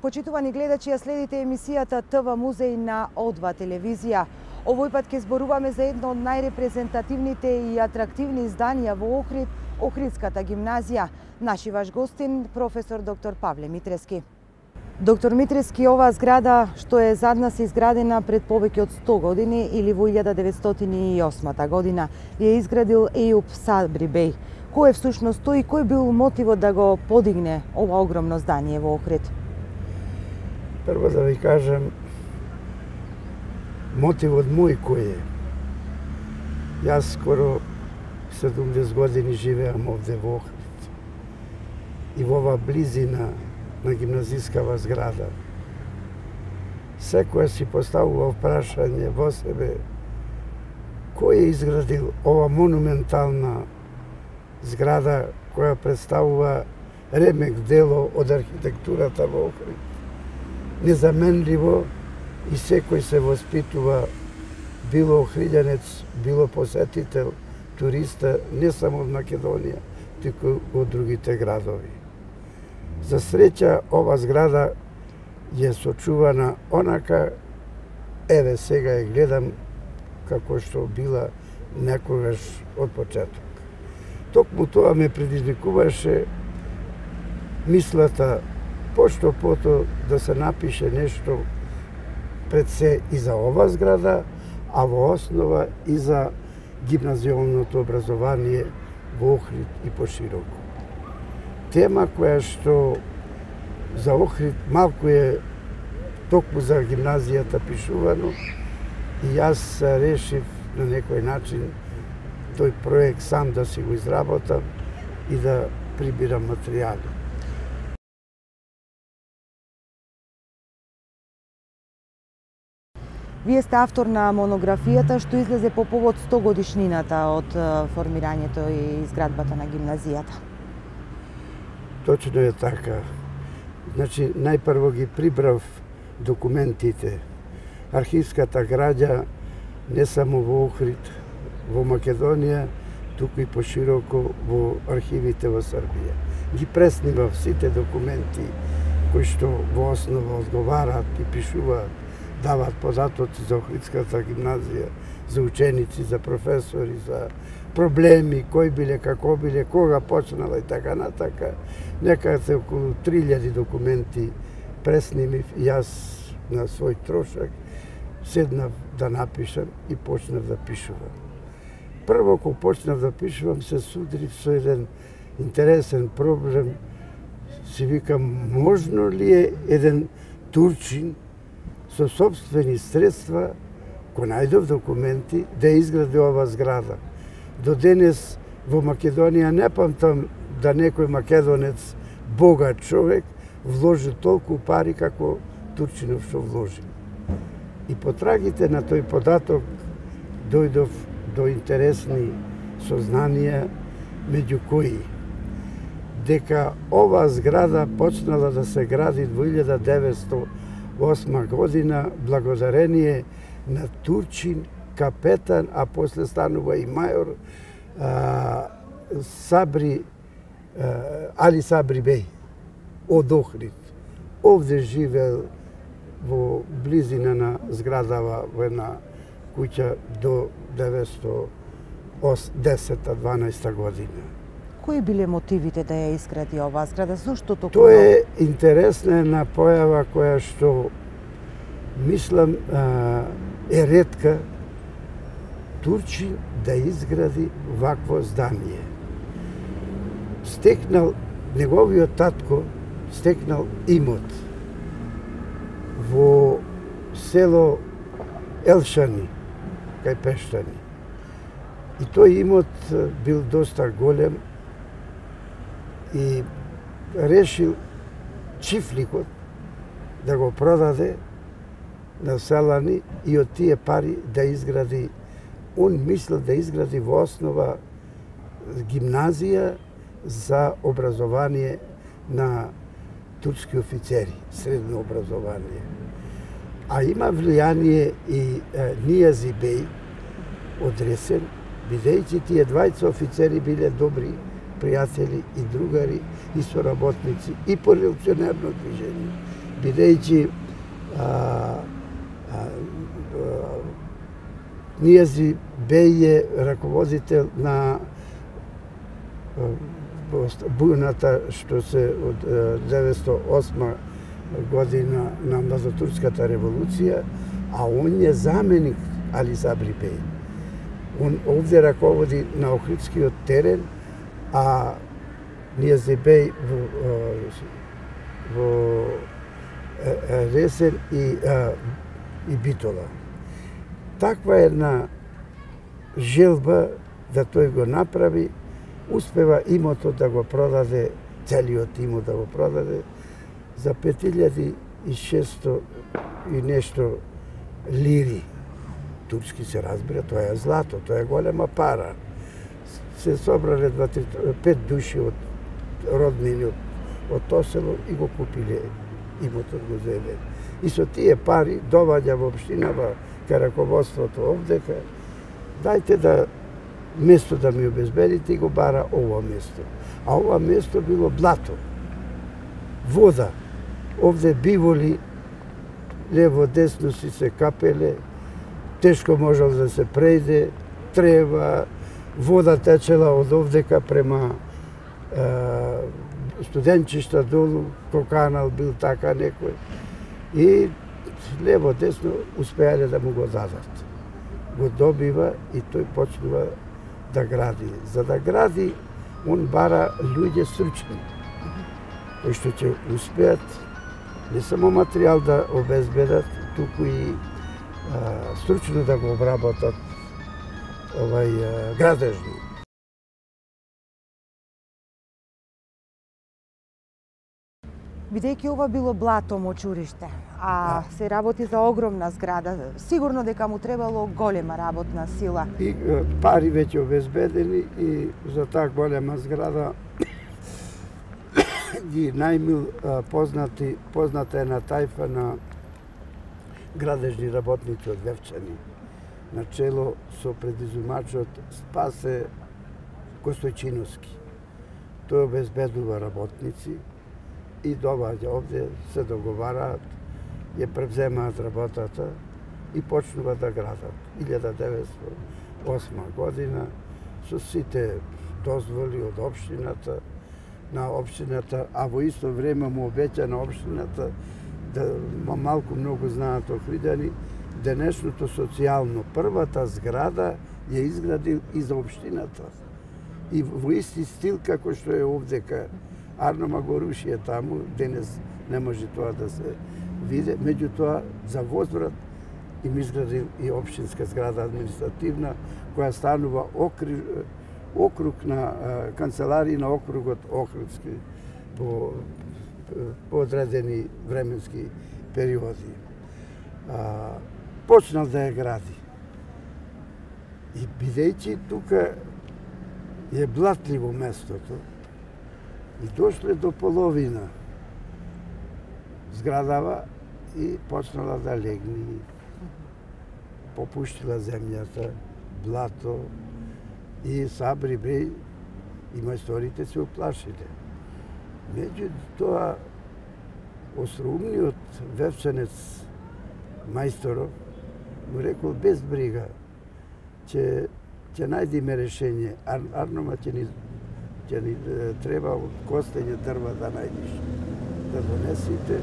Почитувани гледачи, ја следите емисијата ТВ Музеј на О2 телевизија. Овој пат ќе зборуваме за едно од најрепрезентативните и атрактивни изданија во Охрид, Охридската гимназија. Наши ваш гостин, професор доктор Павле Митрески. Доктор Митрески, оваа зграда што е зад нас изградена пред повеќе од 100 години или во 1908 година, ја изградил Ејуп Сабри беј. Кој е всушност тој и кој бил мотивот да го подигне ова огромно здание во Охрид? Прво да ви кажам, мотивот мој кој е. Јас скоро 70 години живеам овде во Охрид. И во ова близина на гимназискава зграда. Секој си поставува прашање во себе кој е изградил ова монументална зграда која представува ремек дело од архитектурата во Охрид. Незаменливо и секој се воспитува, било охриѓанец, било посетител, туриста, не само од Македонија, туку од другите градови. За среќа, ова зграда е сочувана онака, еве сега ја гледам како што била некогаш од почеток. Токму тоа ме предизвикуваше мислата пошто пото да се напише нешто пред се и за ова зграда, а во основа и за гимназијалното образование во Охрид и пошироко. Тема која што за Охрид малку е токму за гимназијата пишувано и јас решив на некој начин тој проект сам да си го изработам и да прибирам материјали. Вие сте автор на монографијата што излезе по повод 100 годишнината од формирањето и изградбата на гимназијата. Точно е така. Значи, најпрво ги прибрав документите, архивската граѓа не само во Охрид, во Македонија, туку и пошироко во архивите во Србија. Ги преснимав сите документи кои што во основа одговараат и пишуваат, даваат податоци за Охридската гимназија, за ученици, за професори, за проблеми, кои биле, како биле, кога почнала и така натака. Некаде околу 3000 документи преснимив и јас на свој трошак седнав да напишам и почнав да пишувам. Прво, кога почнав да пишувам, се судрив со еден интересен проблем. Си викам, можно ли е еден турчин со собствени средства, кој најдов документи, да изгради ова зграда. До денес во Македонија не памтам да некој македонец, богат човек, вложи толку пари како турчинов што вложи. И потрагите на тој податок дојдов до интересни сознанија, меѓу кои дека ова зграда почнала да се гради во 1908 година благодарение на турчин, капетан, а после станува и мајор Али Сабри беј од Охрид. Овде живеел во близина на зградава во една куќа до 1910-12 година. Кои биле мотивите да ја изгради оваа зграда? Зошто толку? Тоа е интересна една појава која што мислам е ретка турчин да изгради вакво здание. Стекнал, неговиот татко стекнал имот во село Елшани, кај Пештани. И тој имот бил доста голем и решил чифликот да го продаде на селани и од тие пари да изгради, он мислел да изгради во основа гимназија за образование на турски офицери, средно образование. А има влијание и Нијази беј од Ресен, бидејќи тие двајца офицери биле добри пријатели и другари и соработници и по револуционерно движење бидејќи Нијази беј е раководител на бујната што се од 908 година на Мазатурската револуција, а он е заменик Али Сабри беј. Он овде раководи на Охридскиот терен, а Нијази беј во Ресен и Битола. Таква една желба да тој го направи, успева имото да го продаде, целиот имот да го продаде за 5600 и нешто лири. Турски се разбира, тоа е злато, тоа е голема пара. Се собрале 5 души од роднини од тоа село и го купиле имотот, го земе. И со тие пари доваѓа во општинава кај раководството овдека, дајте да место да ми обезбедите, и го бара ова место. А ова место било блато, вода, овде биволи, лево десно си се капеле, тешко можел да се прејде, трева, вода течела од овдека према студенчишта долу, Коканал бил така некој. И лево десно успеале да му го дадат. Го добива и тој почнува да гради. За да гради, он бара луѓе стручни, кои што ќе успеат не само материјал да обезбедат, туку и стручно да го обработат градежно. Бидејќи ова било блато мочуриште, а се работи за огромна зграда, сигурно дека му требало голема работна сила. И пари веќе обезбедени, и за таа голема зграда ги најмил позната една тајфа на градежни работници од Вевчани, на чело со предизумачот Спасе Костојчиновски. Тој обезбедува работници и доваѓа овде, се договараат, ја превземаат работата и почнува да градат. 1908 година со сите дозволи од општината, на општината, а во исто време му обеќа на општината да малку многу знаат охридани, денешното социјално првата зграда ја изградил и за општината. И во исти стил како што е овдека. Арно го руши е таму, денес не може тоа да се види, меѓутоа за возврат им изградил и општинска зграда административна, која станува округ на канцеларии на округот Охридски по одредени временски периоди. Почнал да ја гради. И бидејќи тука е блатливо местото, и дошле до половина зградава и почнала да легни. Попуштила земјата, блато, и Сабри беј и мајсторите се уплашиле. Меѓутоа, остроумниот вевчанец мајсторов му рекол без брига, ќе најдиме решение. Арнома ќе ни треба од костење дрва да најдиш, да донесите,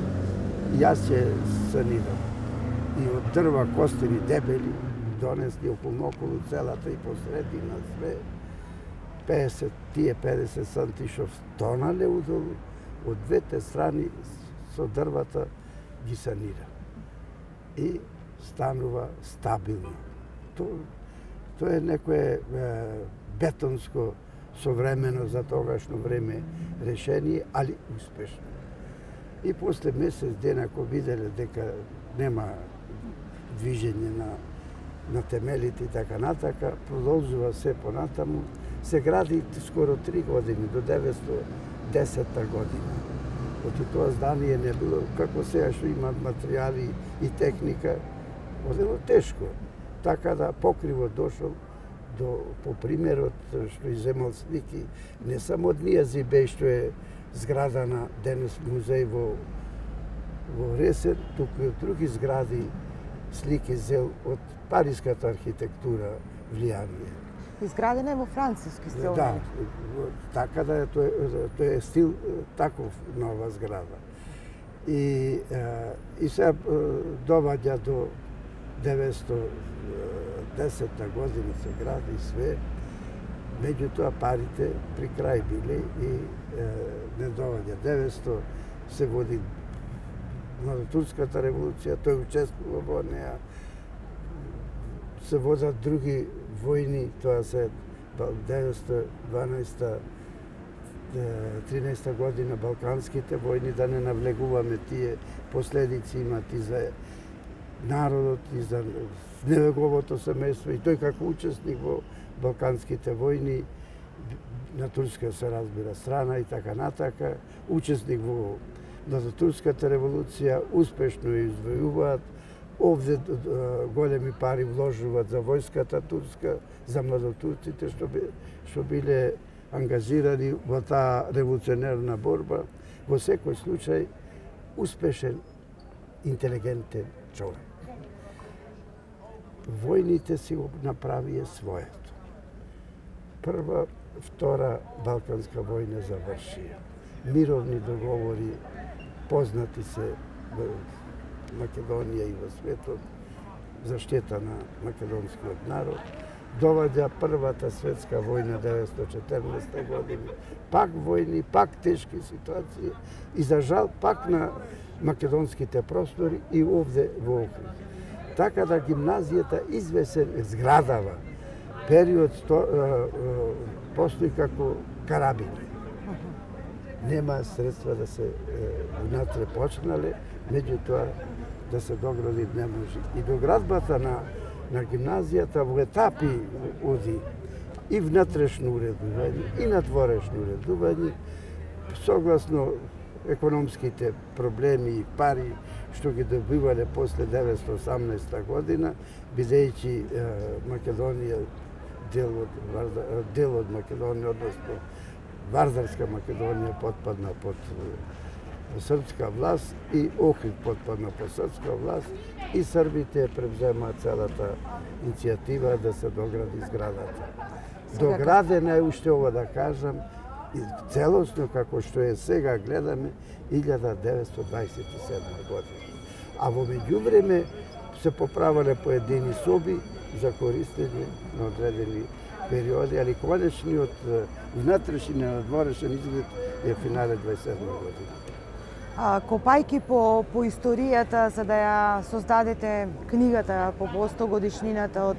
и јас ќе санирам. И од дрва костени дебели донесли околу целата и посредина све, 50 сантишов тонале удолу, од двете страни со дрвата ги санира. И станува стабилно. Тоа е некое бетонско современо за тогашно време решение, али успешно. И после месец дена, кога виделе дека нема движење на темелите и така натака, продолжува се понатаму, се гради скоро 3 години, до 910 година. Оти тоа здание не било, како сега што имат материјали и техника, одело тешко. Така да покриво дошол по примерот што иземал слики, не само од Нијази беј што е зграда на денес музеј во во Ресен, туку и други згради слики зел од париската архитектура влијание. Изградена е во француски стил. Да, така да е, тој е стил таков нова зграда. И се доваѓа до 910 година се гради све, меѓутоа парите при крај биле и не доваѓа. 900 се води Турската револуција, тој учествува во неа, се водат други војни, тоа се 912-13 година балканските војни, да не навлегуваме тие последици имат и за народот, и за неговото семејство, и тој како учесник во балканските војни, на турска се разбира страна и така натака, учесник во Турската револуција, успешно ја извојуваат. Овде големи пари вложуваат за војската турска, за младотурците што биле ангажирани во таа револуционерна борба. Во секој случај, успешен, интелигентен човек. Војните си го направија своето. Прва, втора Балканска војна завршија. Мировни договори познати се во Македонија и во светот, заштита на македонскиот народ. Доваѓа Првата светска војна 1914 година. Пак војни, пак тешки ситуации и за жал пак на македонските простори и овде во Охрид. Така да гимназијата извесен зградава период постои како карабина. Нема средства да се внатре почнале, меѓутоа да се догради не може. И доградбата на гимназијата во етапи оди и внатрешно уредување, и надворешно уредување, согласно економските проблеми и пари што ги добивале после 1918 година, бидејќи Македонија дел од Македонија, односно Вардарска Македонија потпадна под српска власт и Охрид потпадна под српска власт и србите превземаат целата иницијатива да се догради зградата. Доградена е уште ова да кажам, целосно како што е сега гледаме 1927 година. А во меѓувреме се поправале поедини соби за користење на одредени периоди, али конечниот внатрешен и надворешен изглед е финале 27 година. Копајки по историјата, за да ја создадете книгата по 100 годишнината од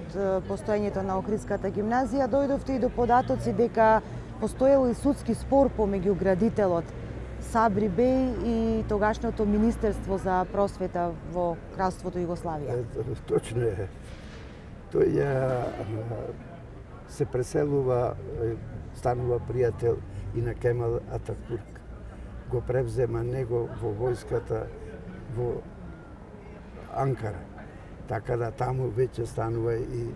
постоењето на Охридската гимназија, дојдовте и до податоци дека постоел и судски спор помеѓу градителот Сабри Беј и тогашното Министерство за просвета во Кралството Југославија. Точно е. Тој се преселува, станува пријател и на Кемал Ататурк. Го превзема него во војската во Анкара. Така да таму веќе станува и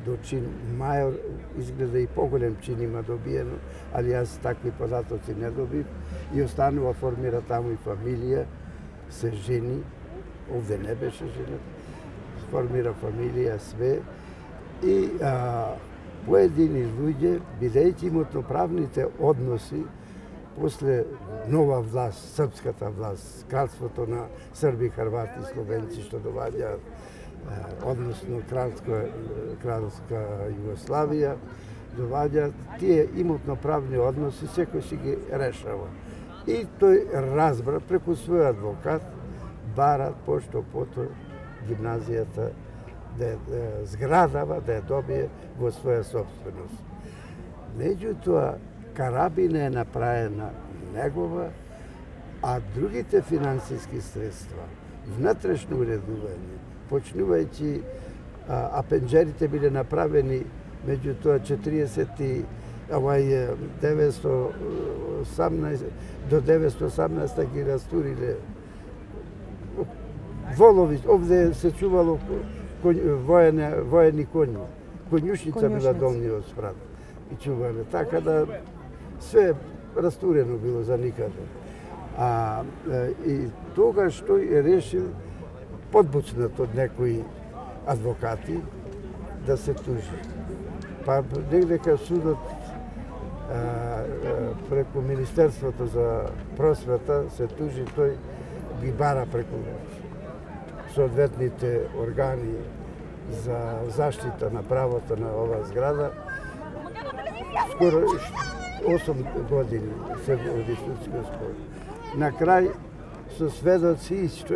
до чин мајор, изгледа и поголем чин има добиено, али јас такви податоци не добив и останува, формира таму и фамилија, се жени, овде не беше женет, формира фамилија, све и поедини луѓе, бидејќи имотноправните односи после нова власт, српската власт, кралството на срби, хрвати, словенци што доваѓаат, односно кралска Југославија, доваѓаат тие имотноправни односи, секој си ги решава. И тој разбра преку свој адвокат, барат пошто пото гимназијата да зградава, да ја добие во своја собственост. Меѓутоа, карабина е направена негова, а другите финансиски средства, внатрешно уредување, почнувајќи, пенџерите биле направени меѓутоа 918 до 918 ги растуриле волови, овде се чувало воени коњи, конјушница била долниот спрат и чувале, така да све растурено било за никаде. И тогаш тој решил, подбуцнат од некои адвокати, да се тужи. Па негдека судот преку Министерството за просвета се тужи, тој ги бара преку соодветните органи за заштита на правото на оваа зграда. Скоро 8 години се води судски спор. На крај со сведоци, што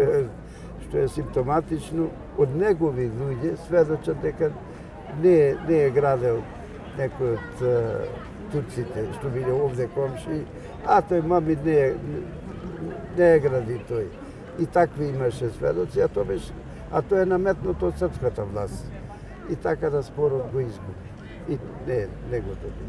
е симптоматично, од негови луѓе сведочат дека не е градел некој од турците што биле овде комши, а тој мами не е гради тој. И такви имаше сведоци, а тоа е наметнато од српската власт. И така да спорот го изгуби. И не го доби.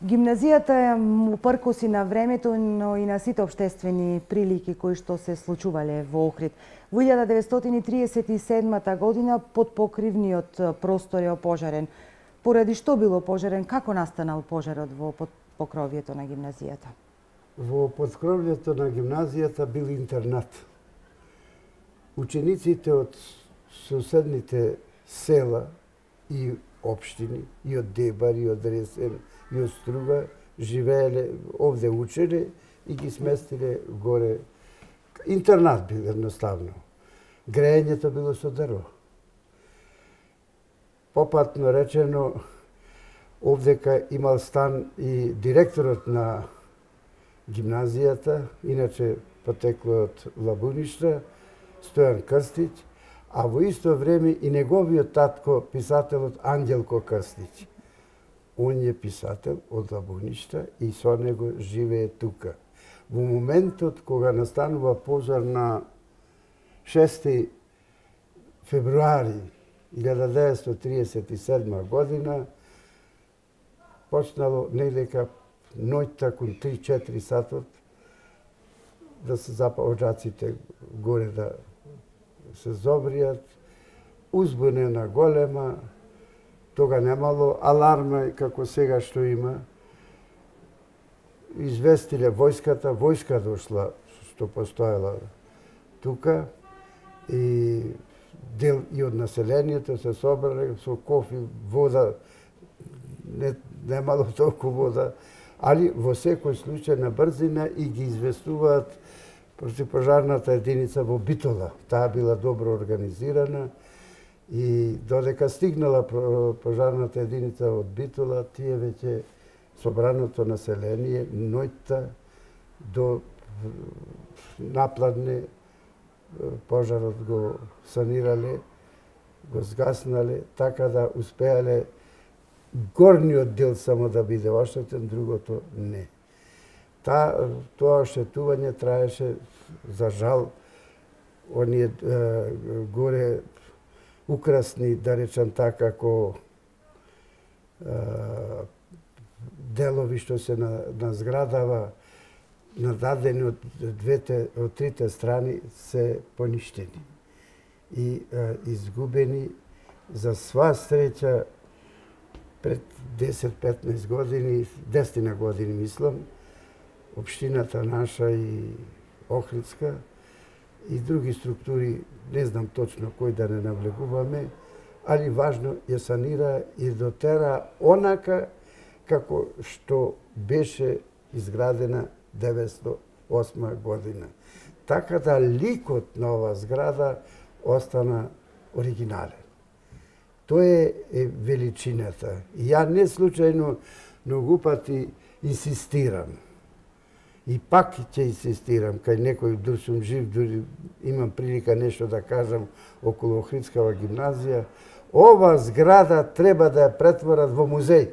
Гимназијата е упркоси на времето, но и на сите општествени прилики кои што се случувале во Охрид. Во 1937 година подпокривниот простор е опожарен. Поради што бил опожарен? Како настанал пожарот во подкровјето на гимназијата? Во подкровјето на гимназијата бил интернат. Учениците од соседните села и општини, и од Дебар, и од Ресен, и од Струга, живееле, овде учеле и ги сместиле горе. Интернат бил едноставно. Грејењето било со дрво. Попатно речено, овдека имал стан и директорот на гимназијата, иначе потекло од Лабуништа, Стојан Крстич, а во исто време и неговиот татко, писателот Ангелко Крстич. Он е писател од Лабуништа и со него живее тука. Во моментот кога настанува пожар на 6 февруари 1937 година, почнало недека ноќта кон 3-4 сатот да се запалжаците горе да се зобријат, узбунена голема, тога немало аларма како сега што има. Известиле војската, војска дошла што постоела тука и дел и од населението се собрале со кофи, вода, немало толку вода, али во секој случај на брзина и ги известуваат противпожарната единица во Битола. Таа била добро организирана и додека стигнала пожарната единица од Битола, тие веќе собраното население ноќта до напладне пожарот го санирале, го згаснале, така да успеале горниот дел само да биде оштетен, другото не. Тоа оштетување траеше, за жал, оние горе украсни, да речам така, како делови што се на зградава, нададени од трите страни, се поништени и изгубени. За сва среќа, пред 10-15 години, 10 години мислам, општината наша и Охридска и други структури, не знам точно кој да не навлегуваме, али важно ја санира и дотера онака како што беше изградена 1908 година. Така да ликот на оваа зграда остана оригинален. Тоа е величината. И ја не случајно многу пати инсистирам. И пак ќе инсистирам, кај некој дур сум жив, дури имам прилика нешто да кажам околу Охридскава гимназија, ова зграда треба да ја претворат во музеј.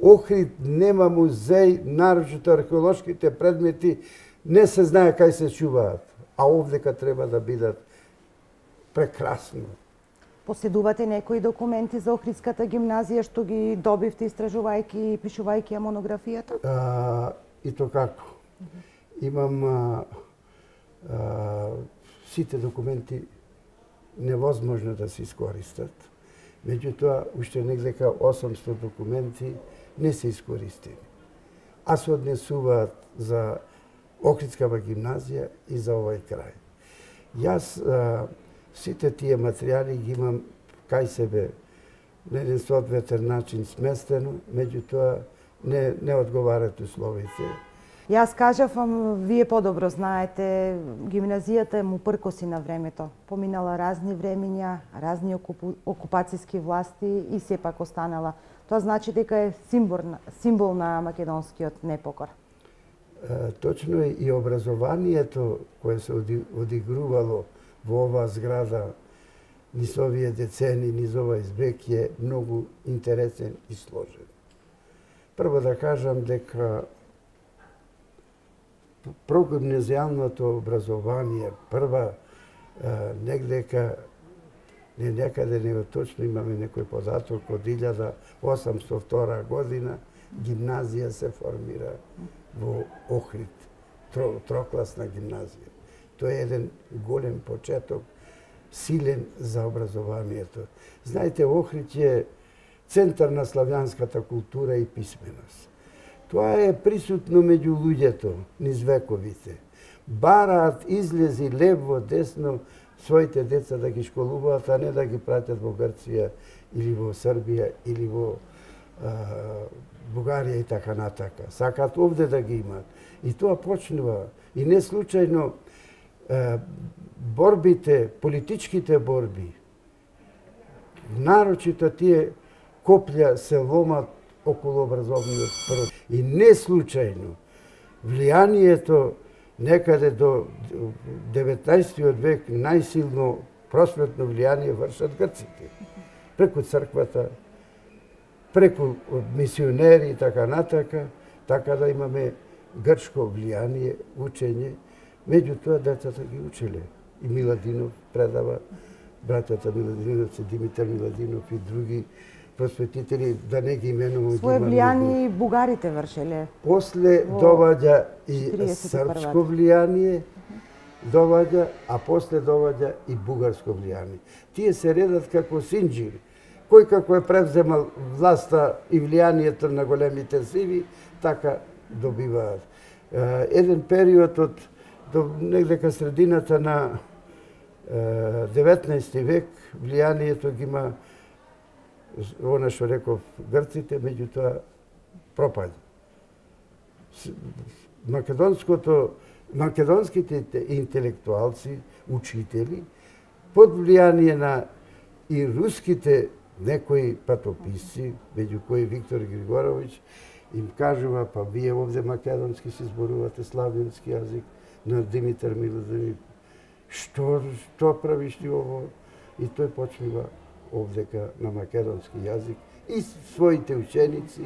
Охрид нема музеј, нарочито археолошките предмети не се знае кај се чуваат, а овдека треба да бидат прекрасно. Поседувате некои документи за Охридската гимназија што ги добивте истражувајќи и пишувајќи ја монографијата? И то како. Имам сите документи невозможно да се искористат. Меѓутоа, уште негдека 800 документи не се искористени, а се однесуваат за Охридскава гимназија и за овој крај. Јас сите тие материјали ги имам кај себе на еден соодветен начин сместено, меѓутоа не одговарат условите. Јас кажавам, вие подобро знаете, гимназијата му пркоси на времето. Поминала разни времиња, разни окупацијски власти и сепак останала. Тоа значи дека е символ на македонскиот непокор. Точно е, и образованието кое се одигрувало во оваа зграда низ овие децени, низ овој век е многу интересен и сложен. Прво да кажам дека прогимназијалното образование прва некаде него точно имаме некој податок од 1802 година гимназија се формира во Охрид, трокласна гимназија. Тоа е еден голем почеток, силен за образованието. Знаете, Охрид е центар на славјанската култура и писменост. Тоа е присутно меѓу луѓето низ вековите. Бараат излези лево, десно своите деца да ги школуваат, а не да ги пратят во Грција или во Србија или во Бугарија и така натака. Сакаат овде да ги имаат. И тоа почнува. И не случајно борбите, политичките борби, нарочито тие коплја се ломат околу образовниот процес. И не случајно влијанието некаде до 19 век најсилно просветно влијание вршат грците. Преку црквата, преку мисионери и така натака, така да имаме грчко влијание, учење. Меѓутоа децата ги учеле. И Миладинов предава, братята Миладиновци, Димитар Миладинов и други просветители, да не ги именувам. Своје влијание и бугарите вршеле. После доваѓа и српско влијание, а после доваѓа и бугарско влијание. Тие се редат како синџири. Кој како е превземал власта и влијанието на големите сили, така добиваат. Еден период од негдека средината на 19 век влијанието ги има она што реков грците, меѓутоа пропаѓа. Македонските интелектуалци, учители, под влијание на и руските некои патописци, меѓу кои Виктор Григоровиќ, им кажува, па вие овде македонски се зборувате славјански јазик, на Димитар Миладинов. Што правиш ти ово? И тој почнува овдека на македонски јазик и своите ученици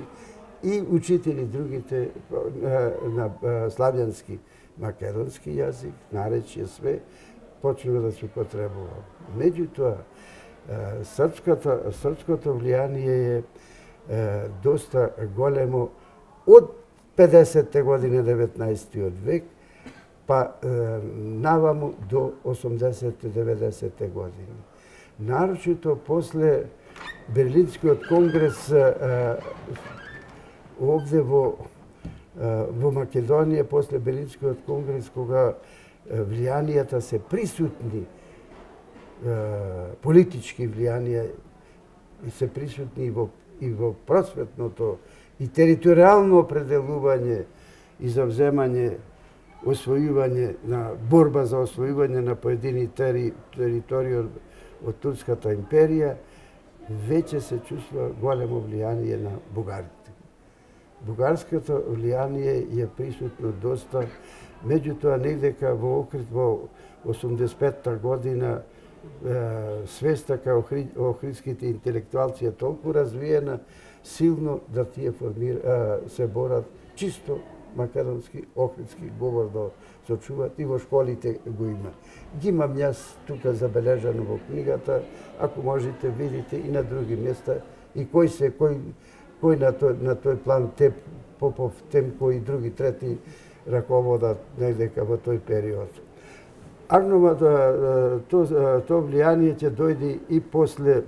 и учители другите на славјански македонски јазик, наречје све, почнува да се употребува. Меѓутоа, српското влијание е доста големо од 50-те години 19 век, па наваму до 80-90-те години. Нарочито после Берлинскиот конгрес овде во Македонија, после Берлинскиот конгрес, кога влијанијата се присутни, политички влијанија и се присутни и во просветното и територијално определување и завземање, освојување на борба за освојување на поедини територии од Турската империја, веќе се чувствува големо влијание на бугарите. Бугарското влијание е присутно доста, меѓутоа негдека во Охрид во 85-та година свеста кај охридските интелектуалци е толку развиена, силно да тие се борат чисто македонски, охридски говор да сочуват и во школите го има. Ги имам јас тука забележано во книгата, ако можете видите и на други места, и кој на тој план Попов, Темко и други трети раководат недека во тој период. Арнова тоа влијание ќе дојде и после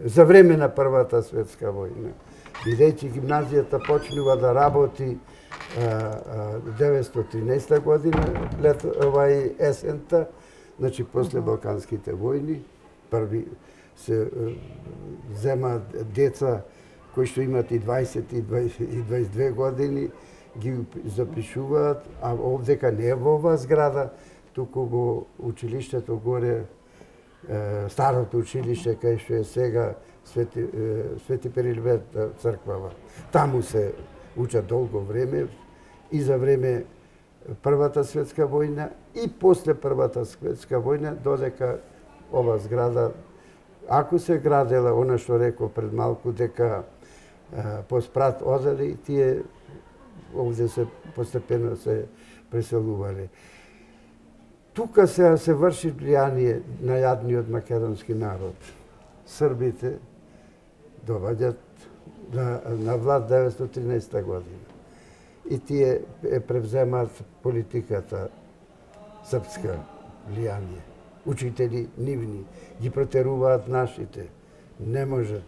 за време на Првата светска војна. Бидејќи гимназијата почнува да работи 1913 година, есента, значи после Балканските војни, први се земаат деца кои што имат и 20 и 22 години, ги запишуваат, а овдека не е во оваа зграда, туку во училиштето горе, старото училиште, кај што е сега Свети Перилберт црквава. Таму се учат долго време и за време Првата светска војна и после Првата светска војна, додека ова зграда, ако се градела, она што реков пред малку, дека поспрат одели, тие овде се постепено се преселувале. Тука се врши влијание на јадниот македонски народ. Србите доваѓат на власт 1913 година. И тие превземаат политиката српска влијание. Учители нивни ги протеруваат нашите. Не можат.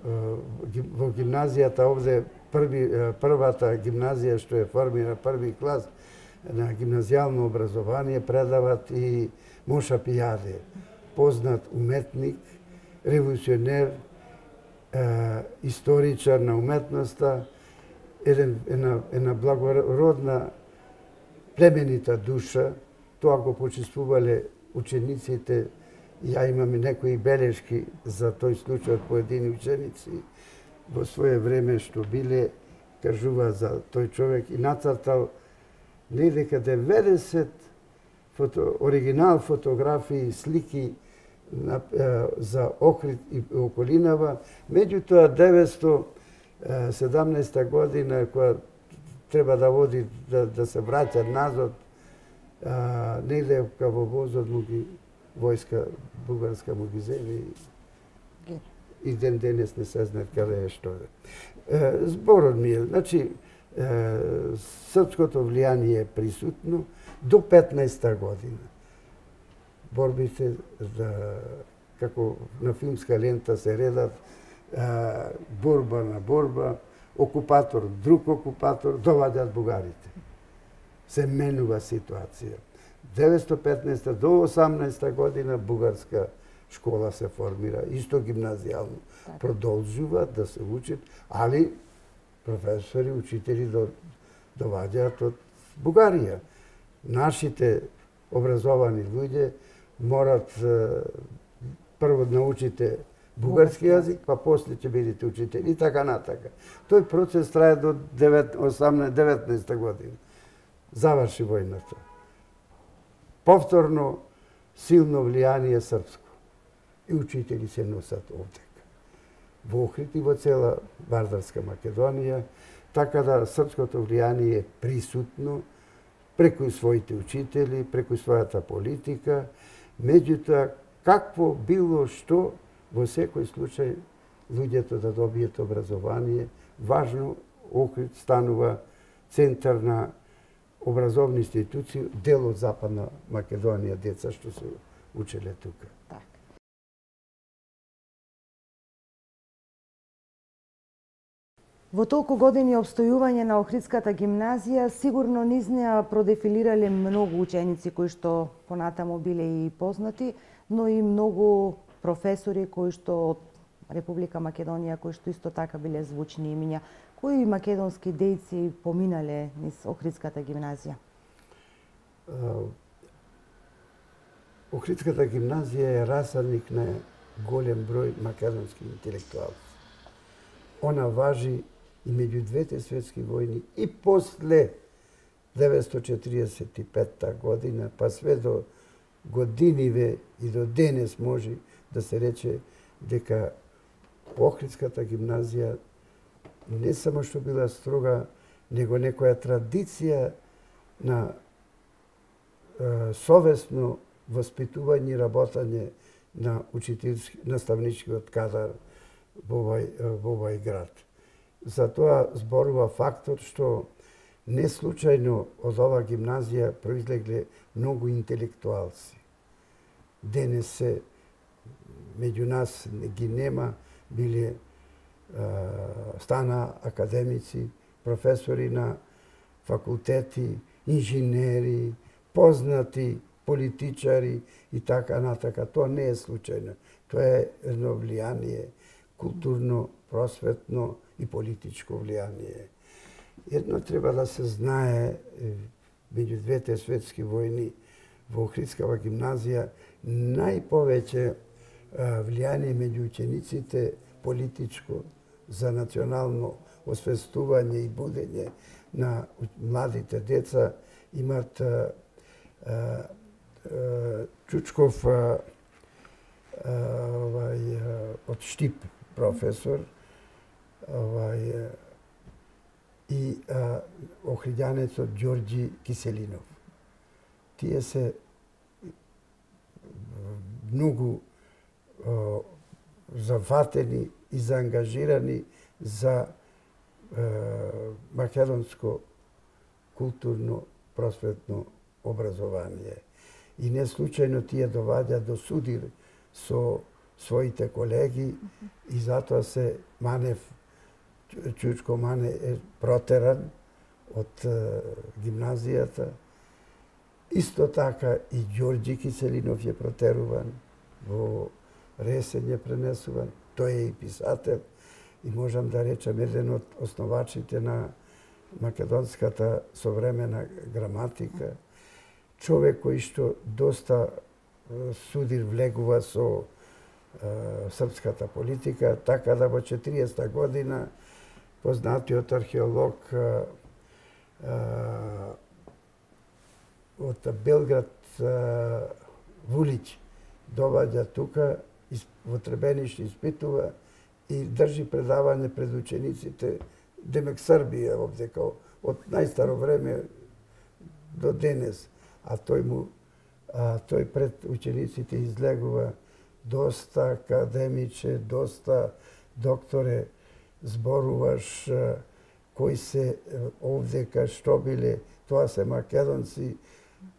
Во гимназијата овде, првата гимназија што е формира први клас на гимназијално образование, предават и Моша Пијаде, познат уметник, револуционер, историчар на уметноста, една благородна, племенита душа. Тоа го почувствувале учениците. Ја имам и некои белешки за тој случај од поедини ученици во своје време што биле, кажува за тој човек и нацртал недека 90 оригинал фотографии, слики за Охрид и околинава. Меѓутоа 917 година, која треба да води, да се враќа назад, негде во возот му ги војска бугарска му ги зели и ден денес не се знае каде е што е. Зборот ми е, значи, српското влијание е присутно до 15-та година. Борбите како на филмска лента се редат, борба на борба, окупатор, друг окупатор, доваѓаат бугарите. Се менува ситуација. 1915 до 18 година бугарска школа се формира, исто гимназијално. Продолжуваат да се учат, али професори, учители доваѓаат од Бугарија. Нашите образовани луѓе морат прво да научите бугарски јазик, па после ќе бидете учители и така натака. Тој процес трае до 19 година. Заврши војната. Повторно силно влијание српско. И учители се носат овдека. Во Охрид и во цела Вардарска Македонија, така да српското влијание е присутно преку своите учители, преку својата политика, меѓутоа какво било што во секој случај луѓето да добијат образование, важно Охрид станува центар на образовни институции, дел од Западна Македонија, деца што се учеле тука. Во толку години обстојување на Охридската гимназија, сигурно низ неа продефилирале многу ученици кои што понатаму биле и познати, но и многу професори кои што од Република Македонија, кои што исто така биле звучни имиња. Кои македонски дејци поминале низ Охридската гимназија? Охридската гимназија е расадник на голем број македонски интелектуалци. Она важи и меѓу двете светски војни и после 1945 година, па све до годиниве и до денес може да се рече дека Охридската гимназија не само што била строга, него некоја традиција на совесно воспитување и работање на наставничкиот кадар во овој град. Затоа зборува фактот што не случајно од оваа гимназија произлегле многу интелектуалци. денес се меѓу нас ги нема, биле стана академици, професори на факултети, инженери, познати политичари и така натака. Тоа не е случајно. Тоа е едно влијание, културно, просветно и политичко влијание. Едно треба да се знае, меѓу двете светски војни во Охридскава гимназија најповеќе влијание меѓу учениците политичко за национално освестување и будење на младите деца имат Чучков од Штип професор и охриѓанецот Ѓорѓи Киселинов. Тие се многу зафатени и заангажирани за македонско културно просветно образование. И не случајно тие доваѓа до судир со своите колеги и затоа се Манев, Чучко Мане е протеран од гимназијата. Исто така и Ѓорѓи Киселинов е протеруван, во Ресен е пренесуван. Тој е и писател и можам да речем еден од основачите на македонската современа граматика. Човек кој што доста судир влегува со српската политика, така да во 40-та година познатиот археолог од Белград Вулич доваѓа тука, во Требениште испитува и држи предавање пред учениците, демек Србија овде, од најстаро време до денес. А тој пред учениците излегува доста академиче, доста докторе, зборуваш кои се овдека, што биле, тоа се македонци,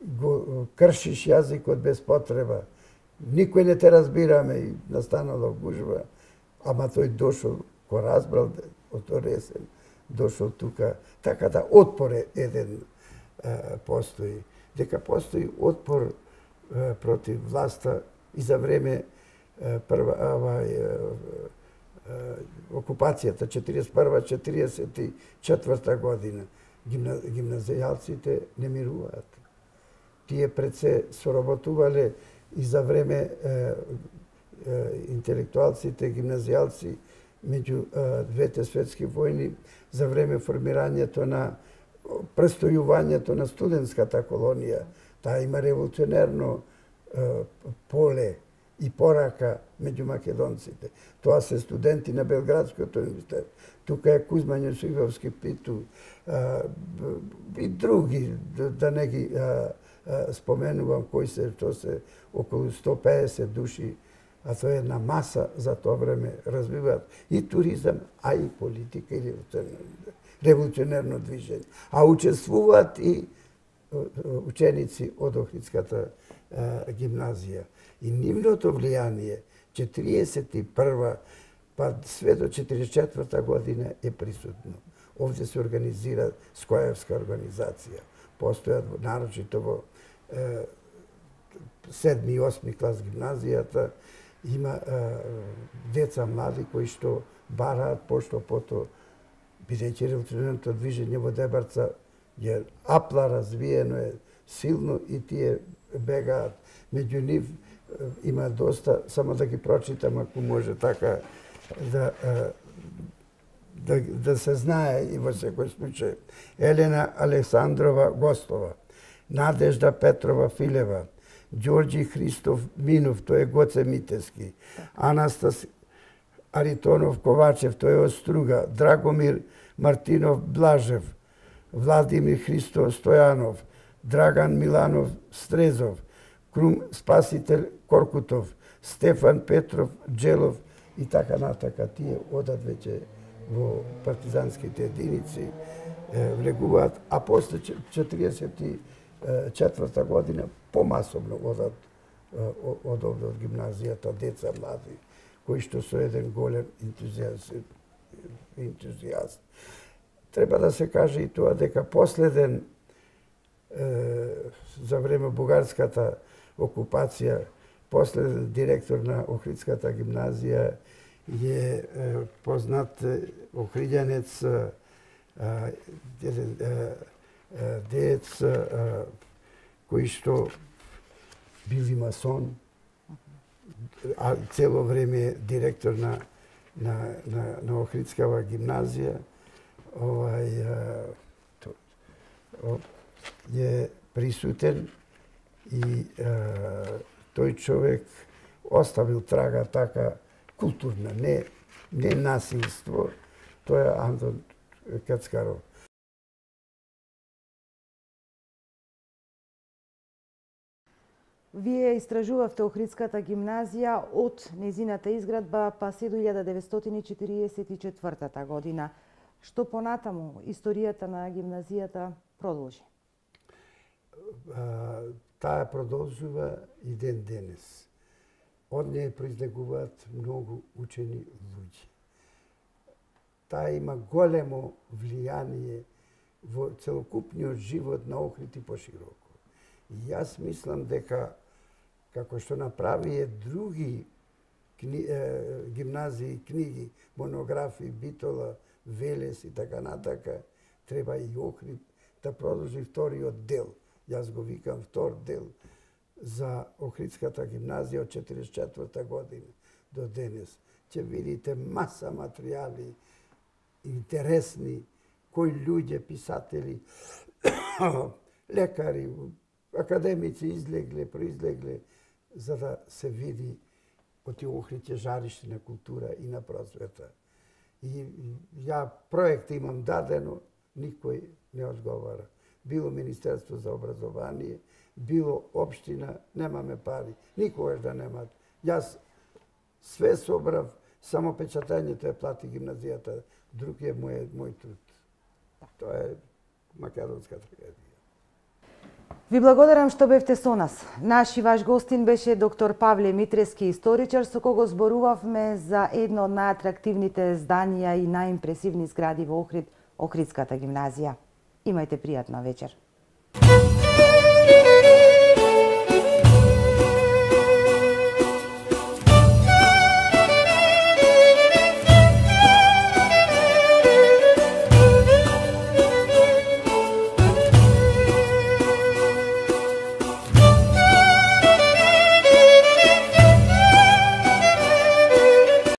го кршиш јазикот без потреба. Никој не те разбираме и настанала гужва, ама тој дошол, кој разбрал од Ресен, дошол тука, така да отпор еден постои. Дека постои отпор против власта и за време окупацијата 41-44 година. Гимназијалците не мируваат. Тие пред се соработувале и за време интелектуалците, гимназијалци меѓу двете светски војни, за време формирањето на престојувањето на студентската колонија. Таа има револуционерно поле и порака меѓу македонците. Тоа се студенти на Белградскиот универзитет. Тука е Кузма Њусујвовски Питу и други, да не ги споменувам кои се, тоа се околу 150 души, а тоа е една маса за тоа време развиваат и туризам, а и политика и револуционерно движење. А учествуваат и ученици од Охридската гимназија. И нивното влијание 41 па све до 44 година е присутно. Овде се организира Скоевска организација. Постојат нарочито во 7 и 8 клас гимназијата, има деца млади кои што бараат пошто-пото, бидејќи револуционерното движење во Дебарца е апла развиено, е силно и тие бегаат. Меѓу нив има доста, само да ги прочитам ако може така да се знае и во секој случај. Елена Александрова Гостова, Надежда Петрова Филева, Ѓорѓи Христов Минов, тој е Гоце Митески, Анастас Аритонов Ковачев, тој е од Струга, Драгомир Мартинов Блажев, Владимир Христо Стојанов, Драган Миланов Стрезов, Крум Спасител Коркутов, Стефан Петров Джелов и така натака. Тие одат веќе во партизанските единици, влегуваат, а после 44 година помасовно одат од овде од гимназијата, деца млади, кои што со еден голем ентузијаст. Треба да се каже и тоа дека последен за време бугарската окупација, последен директор на Охридската гимназија е познат охриѓанец, деец кој што бил и масон, а цело време директор на Охридскава гимназија, е присутен и тој човек оставил трага така културна, не насилство, тоа е Антон Кацкаров. Вие истражувавте Охридската гимназија од незината изградба па се до 1944 година. Што понатаму историјата на гимназијата продолжи? Таа продолжува и ден денес. Од неја произлегуваат многу учени луѓе. Таа има големо влијание во целокупниот живот на Охрид и пошироко. И јас мислам дека, како што направија други гимназии, книги, монографии, Битола, Велес и така натака, треба и Охрид да продолжи вториот дел. Јас го викам втор дел за Охридската гимназија од 1944 година до денес. Ќе видите маса материјали интересни, кои луѓе, писатели, лекари, академици излегле, произлегле, за да се види од Охрид е жариште на култура и на просвета. И ја проект имам дадено, никој не одговара. Било Министерство за образование, било општина, немаме пари. Никогаш да немат. Јас све собрав, само печатањето ја плати гимназијата, друг е мој труд. Тоа е македонска трагедија. Ви благодарам што бевте со нас. Наш и ваш гостин беше доктор Павле Митрески, историчар, со кого зборувавме за едно од најатрактивните зданија и најимпресивни згради во Охрид, Охридската гимназија. Имајте пријатна вечер.